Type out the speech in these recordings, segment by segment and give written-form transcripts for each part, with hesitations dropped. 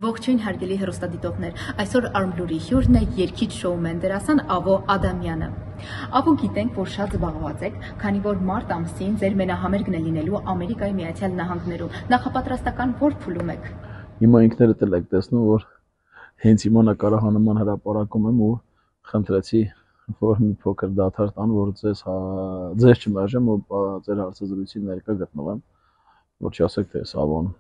Ողջույն հարգելի հեռուստադիտողներ, այսօր Արմլուրի հյուրն է երգիչ շոումեն դերասան Ավո Ադամյանը։ Ավո, գիտենք, որ շատ զբաղված եք, քանի որ մարտ ամսին ձեր մենահամերգն է լինելու Ամերիկայի Միացյալ Նահանգներում։ Նախապատրաստական որ փուլում եք։ Հիմա ինքներդ էլ եք տեսնում, որ հենց հիմա նկարահանման հրապարակում եմ ու խնդրեցի, որ մի փոքր դադար տան, որ ձեզ չմերժեմ ու ձեր հարցազրույցին ներկա գտնվեմ, որ չասեք, թե Ավոն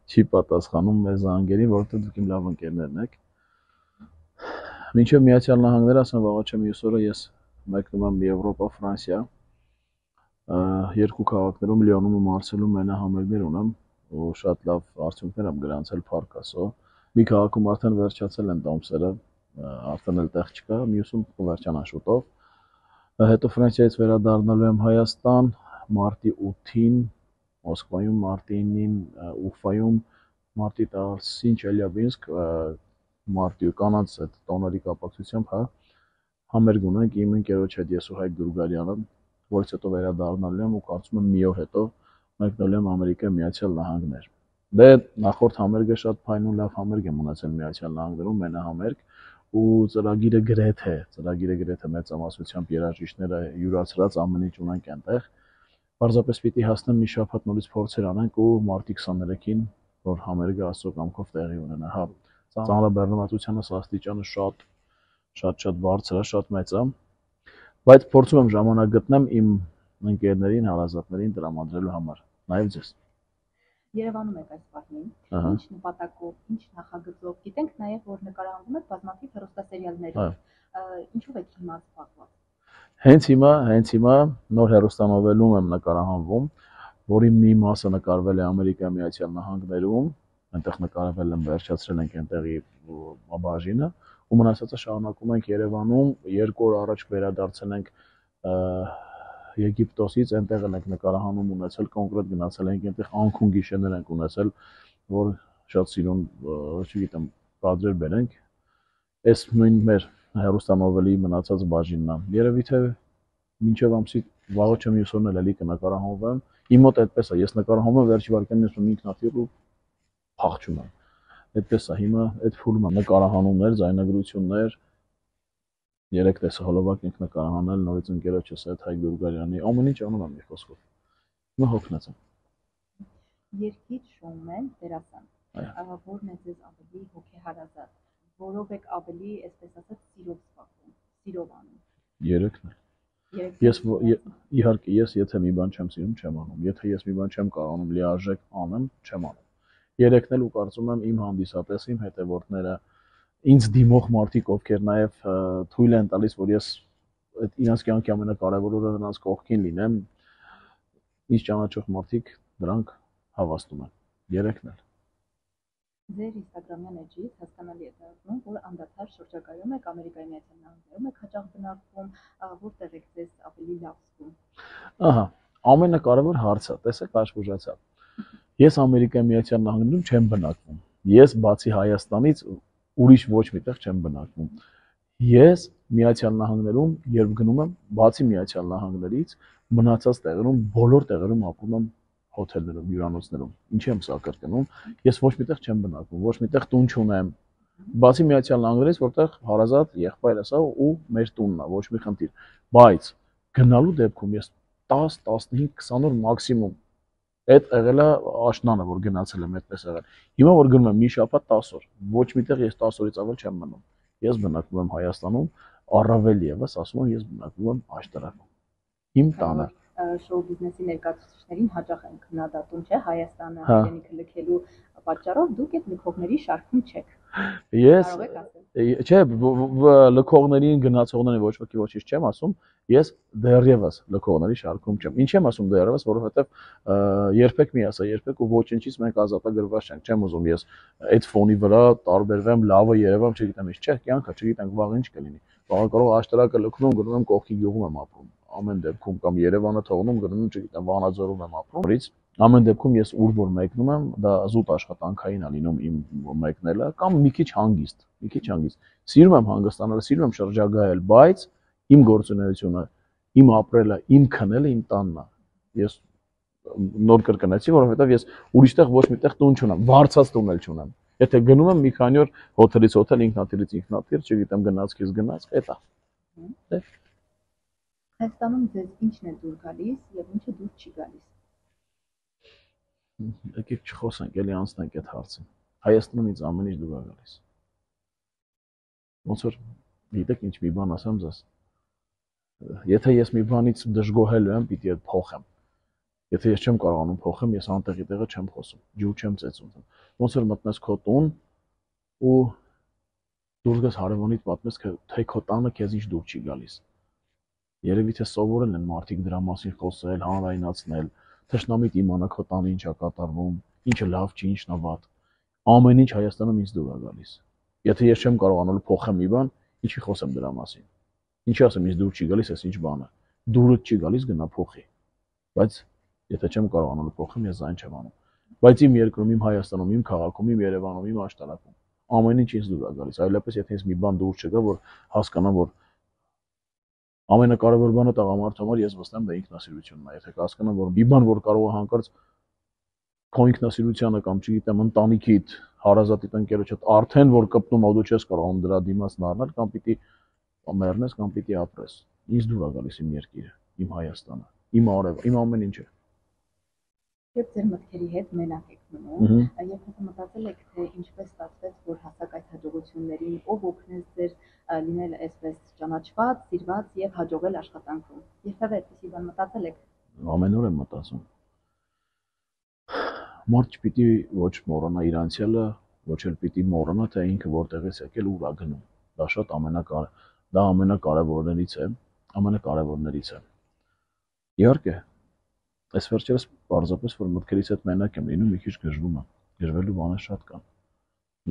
չի պատասխանում մեր զանգերին, որովհետև դուք իմ լավ ընկերներն եք։ Մինչև Միացյալ Նահանգներ, ասեմ, վաղը չեմ մյուս օրը ես մեկնում եմ Եվրոպա, Ֆրանսիա, երկու քաղաքներում Լիոնում ու Մարսելում մենահամերգներ ունեմ ու շատ լավ արդյունքներ եմ գրանցել փառք Աստծո։ Մի քաղաքում արդեն վերջացել են տոմսերը, արդեն էլ տեղ չկա, մյուսում կվերջանա շուտով։ Հետո Ֆրանսիայից վերադառնալու եմ Հայաստան մարտի 8-ին Մոսկվայում, մարտի 9-ին Ուֆայում, մարտի 10-ին Չելյաբինսկ, մարտի կանանց այդ տոների կապակցությամբ համերգ ունենք իմ ընկերոջ հետ, ես ու Հայկ Դուրգարյանը, որից հետո վերադառնալու եմ ու կարծում եմ մի օր հետո մեկնելու եմ Ամերիկայի Միացյալ Նահանգներ։ Դե նախորդ համերգը շատ փայն ու լավ համերգ եմ ունեցել Միացյալ Նահանգներում, մենահամերգ ու ծրագիրը գրեթե մեծամասնությամբ երաժիշտները յուրացրած ամեն ինչ ունենք այնտեղ։ Պարզապես պիտի հասնեմ մի շաբաթ նորից փորձեր անենք ու մարտի 23-ին, որ համերգը Աստծո կամքով տեղի ունենա։ Հա, ծանրաբեռնվածությունը աստիճանը շատ բարձր է, շատ մեծ է, բայց փորձում եմ ժամանակ գտնեմ իմ ընկերներին, հարազատներին տրամադրելու համար, նաև ձեզ։ Երևանում եք այս պահին, ինչ նպատակով, ինչ նախագծով, գիտենք նաև, որ նկարահանվում եք բազմաթիվ հեռուստասերիալներով, ինչով եք հիմա զբաղված։ Հենց հիմա նոր հեռուստանովելում եմ նկարահանվում, որի մի մասը նկարվել է Ամերիկայի Միացյալ Նահանգներում, այնտեղ նկարվել եմ, վերջացրել ենք այնտեղի բաժինը, ու մնացածը շարունակում ենք Երևանում, 2 օր առաջ վերադարձել ենք Եգիպտոսից, այնտեղ ենք նկարահանում ունեցել, կոնկրետ գնացել ենք այնտեղ անքուն գիշերներ ենք ունեցել, որ շատ սիրուն, չգիտեմ, կադրեր բերենք, այս նույն մեր հեռուստանովելի մնացած բաժինն է։ Երևի թե մինչև ամսի վաղը չեմ մյուս օրն էլի կնկարահանվեմ։ Իմ մոտ այդպես է, ես նկարահանվում եմ վերջի վարքյանին ասում եմ ինքնաթիռ ու փախչում եմ։ Այդպես է, հիմա այդ փուլում եմ նկարահանումներ, ձայնագրություններ, 3 տեսահոլովակ ենք նկարահանել նորից ընկերոջս հետ Հայկ Դուրգարյանի, ամեն ինչ անում եմ մի խոսքով։ Հիմա հոգնած եմ։ Երգիչ շոումեն դերասան, որն է ձեզ ավելի հոգեհարազատ, որով եք ավելի, այսպես ասած, սիրով զբաղվում, սիրով անում։ Երեքն է։ Իհարկե, ես եթե մի բան չեմ սիրում, չեմ անում։ Եթե ես մի բան չեմ կարողանում լիարժեք անեմ, չեմ անում։ Երեքն էլ ու կարծում եմ իմ հանդիսատեսը, իմ հետևորդները, ինձ դիմող մարդիկ, ովքեր նաև թույլ են տալիս, որ ես այդ իրենց կյանքի ամենակարևոր օրը նրանց կողքին լինեմ, ինձ ճանաչող մարդիկ դրանք հավաստում են։ Երեքն էլ։ Ձեր ինստագրամյան էջից հասկանալի է դառնում, որ անդադար շրջագայում եք Ամերիկայի Միացյալ Նահանգներում, եք հաճախ բնակվում, որտեղ եք ձեզ ավելի լավ զգում։ Ահա, ամենակարևոր հարցը, տեսեք, աշխուժացա։ Ես Ամերիկայի Միացյալ Նահանգներում չեմ բնակվում։ Ես բացի Հայաստանից ուրիշ ոչ միտեղ չեմ բնակվում։ Ես Միացյալ Նահանգներում, երբ գնում եմ, բացի Միացյալ Նահանգներից, մնացած տեղերում, բոլոր տեղերում ապրում եմ հոթելներում, հյուրանոցներում։ Ինչի եմ սա կրկնում, ես ոչ միտեղ չեմ բնակվում, ոչ միտեղ տուն չունեմ։ Բացի Միացյալ Նահանգներից, որտեղ հարազատ եղբայրս է ու մեր տունն է, ոչ մի խնդիր։ Բայց գնալու դեպքում ես 10, 15, 20 օր մաքսիմում այդ եղել է աշնանը, որ գնացել եմ այդպես եղել։ Հիմա որ գնում եմ մի շաբաթ 10 օր, ոչ միտեղ ես 10 օրից ավել չեմ մնում։ Ես բնակվում եմ Հայաստանում, առավել եւս ասում եմ, ես բնակվում եմ Աշտարակում։ Իմ տանը։ Շոու բիզնեսի ներկայացուցիչներին հաճախ են քննադատում, չէ, Հայաստանը հայրենիքը լքելու պատճառով դուք այդ լքողների շարքում չեք։ Ես չէ, լքողներին, գնացողներին ոչ ոքի ոչինչ չեմ ասում, ես դեռևս լքողների շարքում չեմ։ Ինչ եմ ասում դեռևս, որովհետև երբեք մի ասա, երբեք ու ոչինչից մենք ազատագրված չենք։ Չեմ ուզում ես այդ ֆոնի վրա տարբերվեմ, լավը երևամ, չգիտեմ ինչ, չէ, կյանքը, չգիտենք վաղ ինչ կլինի։ Վաղը կարող Աշտարակը լքնում, գնում եմ կողքի գյուղում եմ ապրում։ Ամեն դեպքում կամ Երևանը թողնում, գնում եմ, չգիտեմ, Վանաձորում եմ ապրում։ Ամեն դեպքում ես ուր որ մեկնում եմ, դա զուտ աշխատանքային է լինում իմ մեկնելը կամ մի քիչ հանգիստ։ Սիրում եմ հանգստանալ, սիրում եմ շրջագայել, բայց իմ գործունեությունը, իմ ապրելը, իմ քնելը իմ տանն է։ Ես նոր կրկնեցի, որովհետև ես ուրիշտեղ ոչ միտեղ տուն չունեմ, վարձած տուն էլ չունեմ։ Եթե գնում եմ մի քանի օր հոթելից հոթել, ինքնաթիռից ինքնաթիռ, չգիտեմ գնացքից գնացք, էտա։ Հայաստանում ձեզ ինչն է դուր գալիս եւ ինչը դուր չի գալիս։ Եկեք չխոսենք, էլի անցնենք այդ հարցին։ Հայաստանում ինձ ամեն ինչ դուր է գալիս։ Ոնց որ գիտեք ինչ մի բան ասեմ ձեզ։ Եթե ես մի բանից դժգոհելու եմ, պիտի այդ փոխեմ։ Եթե ես չեմ կարողանում փոխեմ, ես անտեղի տեղը չեմ խոսում, ջուր չեմ ծեծում։ Ոնց որ մտնես քո տուն ու դուրս գաս հարևանիդ պատմես, թե քո տանը քեզ ինչ դուր չի գալիս։ Երևի թե սովորել են մարդիկ դրա մասին խոսել, հանրայնացնել, թշնամիտ իմանա քո տանը ինչ է կատարվում, ինչը լավ չի, ինչն է վատ։ Ամեն ինչ Հայաստանում ինձ դուր է գալիս։ Եթե ես չեմ կարողանալու փոխեմ մի բան, ինչի խոսեմ դրա մասին։ Ինչի ասեմ, ինձ դուր չի գալիս, այս ինչ բան է։ Դուրդ չի գալիս, գնա փոխի։ Բայց եթե չեմ կարողանալու փոխեմ, ես զայն չեմ անում։ Բայց իմ երկրում, իմ Հայաստանում, իմ քաղաքում, իմ Երևանում, իմ աշտարակում ամեն ինչ ինձ դուր է գալիս։ Այլապես եթե ինձ մի բան դուր չգա, որ հասկանամ, որ ամենակարևոր բանը տղամարդու համար ես վստահ եմ դա ինքնասիրությունն է։ Եթե հասկանամ, որ մի բան որ կարող է հանկարծ քո ինքնասիրությանը կամ չգիտեմ ընտանիքիդ, հարազատիդ ընկերոջդ արդեն որ կպնում ու դու չես կարողանում դրա դիմաց նառնել կամ պիտի մեռնես կամ պիտի ապրես։ Ինձ դուր է գալիս իմ երկիրը, իմ Հայաստանը, իմ արևը, իմ ամեն ինչը։ Երբ ձեր մտքերի հետ մենակ եք մնում, եւ հետո մտածել եք, թե ինչպես ստացվեց, որ հասակ այդ հաջողություններին, ով օգնեց ձեր լինել այսպես ճանաչված, սիրված եւ հաջողել աշխատանքում։ Երբևէ այդպիսի բան մտածել եք։ Ամեն օր եմ մտածում։ Մարդ չպիտի ոչ մոռանա իր անցյալը, ոչ էլ պիտի մոռանա, թե ինքը որտեղից եկել ու ուր է գնում։ Դա շատ ամենակարևորներից է։ Իհարկե, այս վերջերս պարզապես որ մտքերից հետ մենակ եմ լինում, մի քիչ գժվում եմ։ Գժվելու բաներ շատ կան։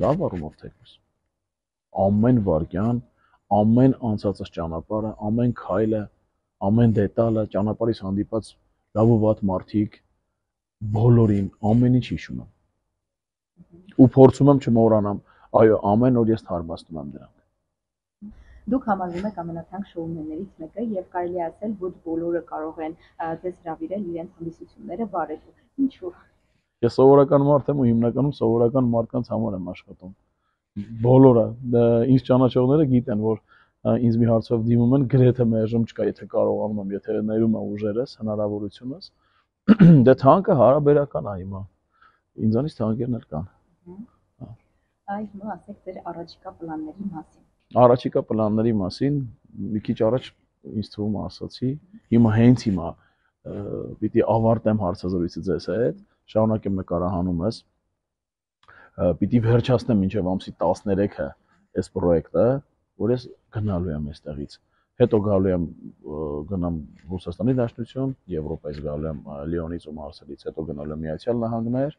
Լավ առումով թեկուզ։ Ամեն վայրկյան, ամեն անցածս ճանապարհը, ամեն քայլը, ամեն դետալը, ճանապարհից հանդիպած լավ ու վատ մարդիկ, բոլորին, ամեն ինչ հիշում եմ։ Ու փորձում եմ չմոռանամ, այո, ամեն օր ես թարմացնում եմ դրանք։ Դուք համարվում եք ամենաթանկ շոումեններից մեկը եւ կարելի է ասել, ոչ բոլորը կարող են ձեզ հրավիրել իրենց հանդիսությունները վարելու։ Ինչու՞։ Ես սովորական մարդ եմ ու հիմնականում սովորական մարդկանց համար եմ աշխատում։ Բոլորը ինձ ճանաչողները գիտեն, որ ինձ մի հարցով դիմում են, գրեթե մերժում չկա, եթե կարողանում եմ, եթե ներում եմ ուժերս, հնարավորությունս։ Դե թանկը հարաբերական է հիմա։ Ինձանից թանկերն էլ կան։ Այ հիմա ասեք ձեր առաջիկա պլանների մասին։ Առաջիկա պլանների մասին մի քիչ առաջ ինձ թվում ասացի, հիմա հենց հիմա պիտի ավարտեմ հարցազրույցը ձեզ հետ, շարունակեմ նկարահանումս, պիտի վերջացնեմ մինչև ամսի 13-ը այս պրոյեկտը, որ ես գնալու եմ այստեղից։ Հետո գալու եմ գնամ Ռուսաստանի Դաշնություն, Եվրոպայից գալու եմ Լիոնից ու Մարսելից, հետո գնալու եմ Միացյալ Նահանգներ,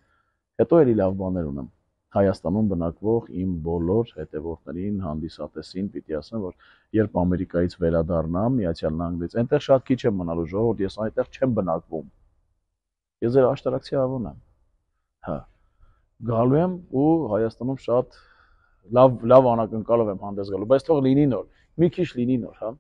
հետո էլի լավ բաներ ունեմ։ Հայաստանում բնակվող իմ բոլոր հետևորդներին, հանդիսատեսին պիտի ասեմ, որ երբ Ամերիկայից վերադառնամ Միացյալ Նահանգներից, այնտեղ շատ քիչ եմ մնալու, ժողովուրդ, ես այնտեղ չեմ բնակվում։ Ես ձեր աշտարակցի ավոն եմ։ Հա։ Գալու եմ ու Հայաստանում շատ լավ անակնկալով եմ հանդես գալու, բայց թող լինի նոր, մի քիչ լինի նոր, հա։